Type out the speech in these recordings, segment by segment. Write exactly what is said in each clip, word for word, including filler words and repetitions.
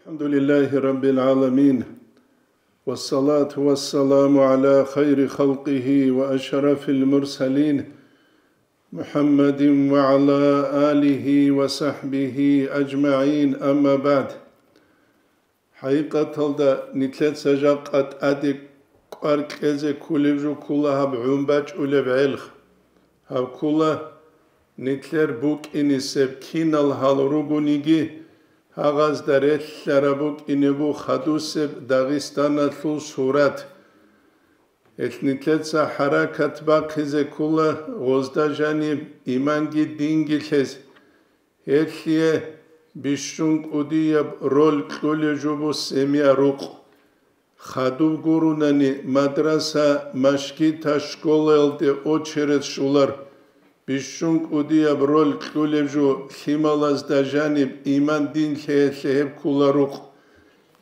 الحمد لله رب العالمين، والصلاة والسلام على خير خلقه وأشرف المرسلين، محمد وعلى آله وصحبه أجمعين، أما بعد. ХӀакъикъаталда, нилъеца жакъа тӀаде кӀвар кьезе кколеб жо ккола гьаб гӀун бачӀулеб гӀелх. Гьаб ккола нилъер букӀинисеб, кинал гьал ругониги, гьагъазда релълъараб букӀине буго хадусеб Дагъистаналъул сурат. Гьелъ нилъеца хӀаракат бахъизе ккола гъозда жаниб иманги динги лъезе. Гьелъие бищун кӀудияб роль кьолеб жо буго семья, рукъ. Хадуб гурунани мадраса, машгита, школаялде очередь щолар. Бищун кӀудияб роль кьолеб жо лъималазда жаниб иман дин лъеялъе гьеб ккола рукъ.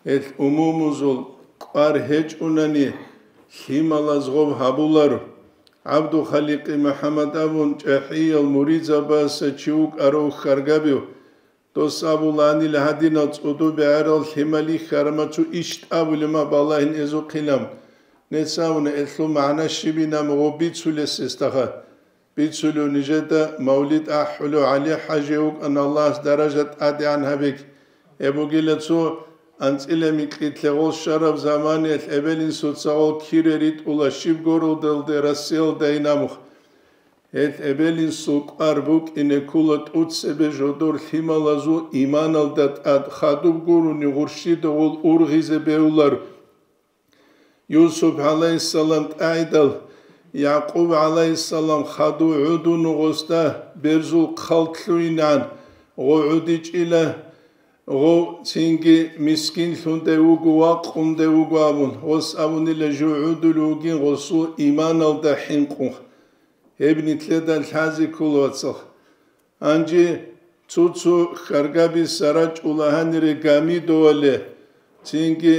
Гьелъ умумузул кӀвар гьечӀунани, лъималаз гъоб гьабуларо. ГӀабдухаликъи МухӀаммад абун чӀахӀиял муридзабаса чи вукӀарав хьаргабив. Дос абуланила гьадинал цӀодо бегӀерал лъимал йихьарама цо иш тӀабулеб ма балагьин эзухъилан. Нец абуна, гьелъул магӀна щибин абун гъоб бицулес гьесдаха. Бицулев нижеда мавлид ахӀулев ГӀали-хӀажи вукӀана, Аллагьас даража тӀадегӀан гьабеги. Гьеб бугила цо анцӀила микьилъе гъол щвараб заманаялъ эбел-инсуца гъол кире ритӀула щиб городалде Россиялдайин абухъ. Гьелъ эбел-инсул кӀвар букӀине ккола тӀоцебе жодор лъималазул иманалда тӀад, хадуб гурони гъурщида гъол ургъизе бегьулар. Юсуп гӀалайгьиссалам тӀагӀидал, Якъуб гӀалайгьиссалам хадув гӀодун гъосда берзул хъал лъугьинегӀан, гъов гӀодичӀила, гъов цинги мискинлъундай вуго, вакъундай вуго абун, гъос абунила жив гӀодулев вугин гъосул иманалда хӀинкъун. Гьеб нилъеда лъазе ккола, вацал. Гьанже цо-цо хьаргаби сарачӀула гьанире Гамидовале, цинги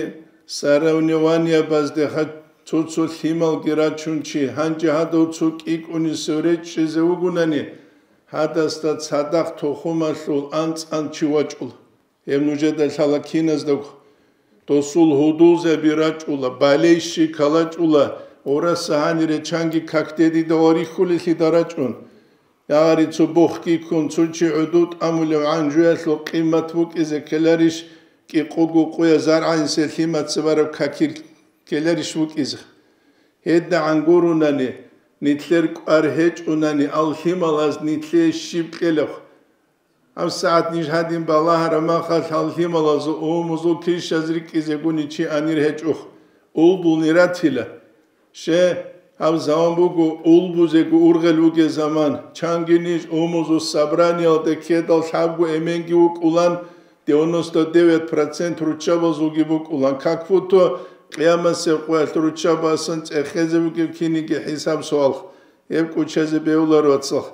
соревнованиябаздеха цо-цо лъималги рачун чи, гьанже гьадав цо кӀикӀунисев речӀчӀизе вугунани, гьадасда цадахъ тухумалъул анцӀ-анцӀ чи вачӀула. Гьеб нужеда лъала киназдаго. Досул гьудулзаби рачӀула, балейщикал рачӀула, гъураса гьанире чанги какде дида ва рихьулелъида рачӀун. Ягъари цо бохги ккун, цо чи гӀодов тӀамулев гӀанжуялъул къимат букӀизе ккеларищ, кӀикъого къуя заргӀанисел лъимаца бараб какил ккеларищ букӀизе? ГьедагӀан гурунани, нилъер кӀвар гьечӀунани, ал лъималаз нилъее щиб кьелеб? ГьабсагӀат ниж гьадин балагьараб махалъ, гьал лъималазул умумузул килщаз рикӀкӀизегуни чи анир гьечӀо, улбулни ратила. Ще, гьаб заман буго улбузего ургъел вугеб заман. Чанги ниж умумузул собраниялде ккедал лъабго эменги вукӀулан, девяносто девять процент руччабазулги букӀулан. Как будто къиямасеб къоялъ руччабасан цӀехезе бугеб киниги хӀисаб-суал. Гьеб кӀочезе бегьуларо, вацал.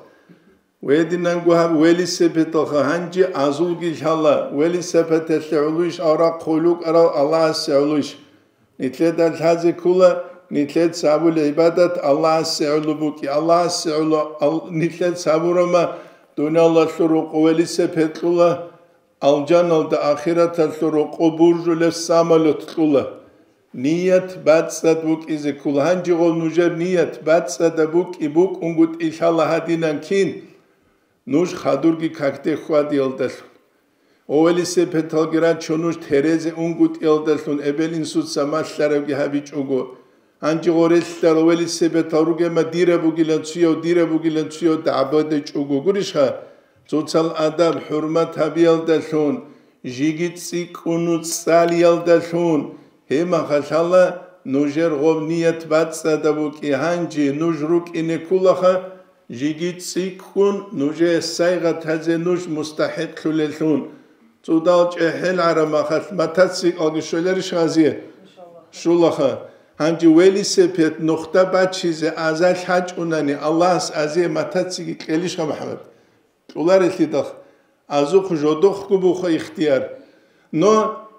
Гьединанго гьаб велосипедалха гьанже азулги лъала, велосипедалъе гӀолойищ аврахъ хъулукъарал Аллагьасе гӀолойищ? Нилъеда лъазе ккола, нилъеца гьабулеб гӀибадат Аллагьасе гӀоло букӀи, Аллагьасе гӀоло ал-, нилъеца гьабурама, дуниялалъул рокъо велосипед кьула, алжаналда ахираталъул рокъо буржулеб самолет кьула. Ният бацӀцӀад букӀизе ккола. Гьанжего нужер ният бацӀцӀадаб букӀи, букӀунгутӀи лъала гьадинан кин, нуж хадурги какде хьвадиялдалъун. О, велосипедалги рачо нуж терезе унгутӀиялдалъун, эбел-инсуца малъарабги гьабичӀого. Гьанже гъорелъал велосипедал ругема дираб бугилан цуяв, дираб бугилан цуяв дагӀбадечӀого гурищха? Цоцал адаб-хӀурмат гьабиялдалъун, жиги цӀикӀкӀуну цӀалиялдалъун, гьеб махалъала нужер гъоб ният бацӀцӀадаб букӀи, гьанже нуж рукӀине кколаха, жиги цӀикӀкӀун нужее сайгъат гьазе нуж мустахӀикълъулелъун. ЦӀудал чӀехӀел гӀараб махалъ мотоциклги щоларищ гьазие? Щолаха. Гьанже велосипед нухда бачизе азалъ гьачӀунани, Аллагьас азие мотоцикл кьелищха, МухӀаммад? Кьоларелъидал, азухъ жодохъго буха ихтияр. Но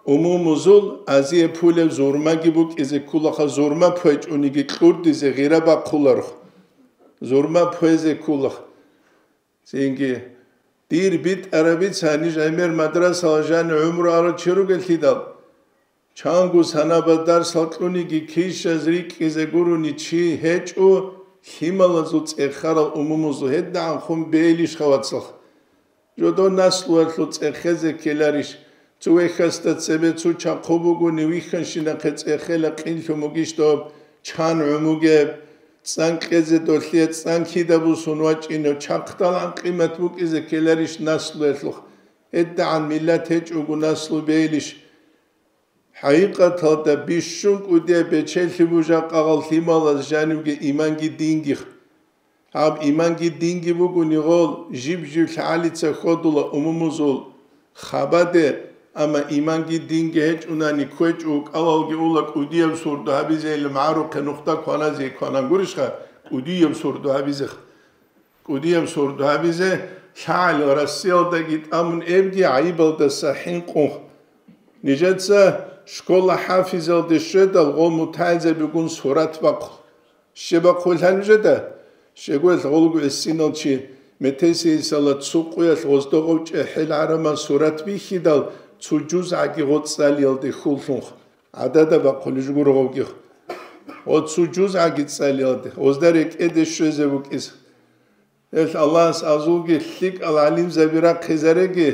умумузул азие пулеб зурмаги букӀизе кколаха, зурма пугьечӀониги кьурдизе гъира бахъуларх. Зурма пугьезе кколаха. Цинги Дир битӀараб бица, ниж гӀемер мадрасала жанив гӀумру арал чи ругеллъидал. Чанго санаба дарсал кьуниги кишаз рикӀкӀизе гурони чи гьечӀо, лъималазул цӀехарал умумузул гьедигӀанхун бейилищха, вацал? Жодор наслуялъул цӀехезе ккеларищ? Цо вехьасда цебе цо чахъу бугони вихьанщинахъе цӀехела, къинлъун бугищ доб, чан гӀумугеб, цӀан кьезе долъие цӀан кида бусун вачӀинев, чахъдалгӀан къимат букӀизе ккеларищ наслуялъухъ? ГьедигӀан миллат гьечӀого наслу бейилищ? ХӀакъикъаталда бищун кӀудияб бечелъи бу жакъа гъал лъималаз жанивги иманги дингих. Гьаб иманги динги бугони гъол жиб-жиб лъагӀалица хьодула умумузул хабаде, амма иманги динги гьечӀунани кквечӀо, кӀалалги ула кӀудияб сордо гьабизе, гьеле магӀарухъе нухда кваназе кванан гурищха, кӀудияб сордо гьабизе. КӀудияб сордо гьабизе, лъагӀел Россиялдаги тӀамун эбги гӀайибалдаса хӀинкъун. Нижеца школа хӀафизалде щведал гъол мутагӀилзабигун сурат бахъу. Щиб бахъулъан нужеда? Щегоялъ гъолго гӀисинал чи, метесейсала цо къуялъ гъоздогъов чӀехӀел гӀарамал сурат бихьидал, цо жузгӀаги гъоцӀ цӀалиялде хьуллъунха. ГӀадада бахъулищ гуро гъовги. Гъоцо жузгӀаги цӀалиялде, гъозда рекӀеде щвезе букӀиз. Гьелъ Аллагьас азулги лъикӀал гӀалимзаби рахъизареги,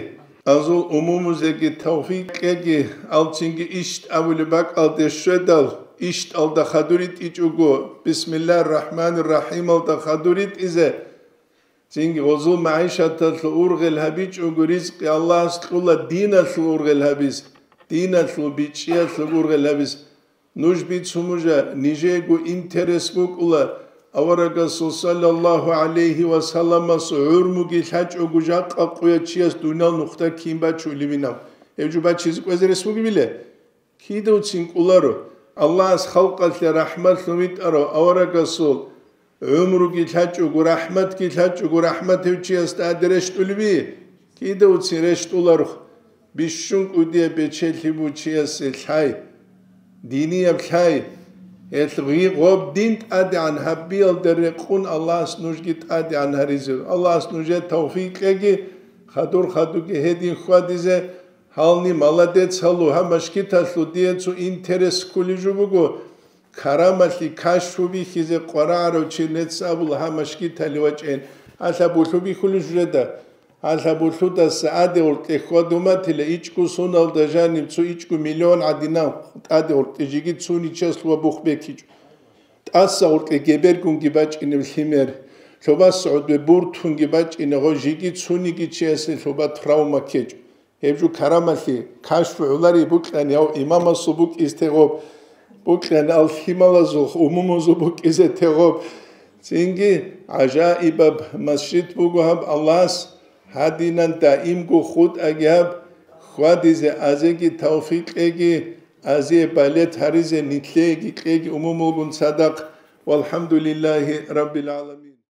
азул умумузеги тавфикъ кьеги, алцинги ишт абулеб бакӀалде щведал, иштӀалда хадур ритӀичӀого, Бисмиллагьир рахӀманир рахӀималда хадур ритӀизе, цинги гъозул магӀишаталъул ургъел гьабичӀого ризкъи Аллагьас кьула диналъул ургъел гьабиз, диналъул бичӀчӀиялъул ургъел гьабиз. Нуж бицун бужа, нижего интерес букӀула, аварагасул саллаллагьу гӀалайгьи ва салламас гӀурмуги лъачӀого жакъа къуя чияс дуниял нухда кин бачулебинаб? Гьев жо бачизе кӀвезе рес бугебиле? Кидавцин кӀоларо. Аллагьас халкъалъе рахӀматлъун витӀарав аварагасул гӀумруги лъачӀого, рахӀматги лъачӀого, рахӀмат гьев чиясда тӀаде рещтӀулеби? Кидавцин рещтӀуларо. Бищун кӀудияб бечелъи бу чиясе лъай, динияб лъай. Гьелъ гъи-, гъоб дин тӀадегӀан гьабиялда рекъун Аллагьас нужги тӀадегӀан гьаризе. Аллагьас нужее тавфикъ кьеги, хадур-хадуги гьедин хьвадизе. Гьални маладец гьалу, гьаб машгиталъул дие цо интерес ккулеб жо буго, карамалъи, кашфу бихьизе къварагӀарав чи нецц абула гьаб машгиталде вачӀин. Гьалъа булъу бихьулищ жеда? Гьалъа булъудаса тӀаде гъоркье хьвадуматила, ичӀго суналда жаниб цо ичӀго миллион гӀадинав тӀаде гъоркье жеги цуничияс ва бух бекичӀо. ТӀаса гъоркье гебергунги бачӀинеб лъимер, лъобас гӀодбе буртунги бачӀине гъо жеги цуниги чиясе лъоба травма ккечӀо. Гьеб жо карамалъи, кашфу гӀолари букьани, гьав имамасул букӀизе тегъоб, букьани ал лъималазул, умумузул букӀизе тегъоб. Цинги гӀажаибаб масжид буго гьаб Аллагьас, гьадинан даимго хутӀаги гьаб, хьвадизе азеги тавфикъ кьеги, азие балет гьаризе нилъееги кьеги умумулгун цадахъ. Валхамдулиллагьи раббил гӀаламин.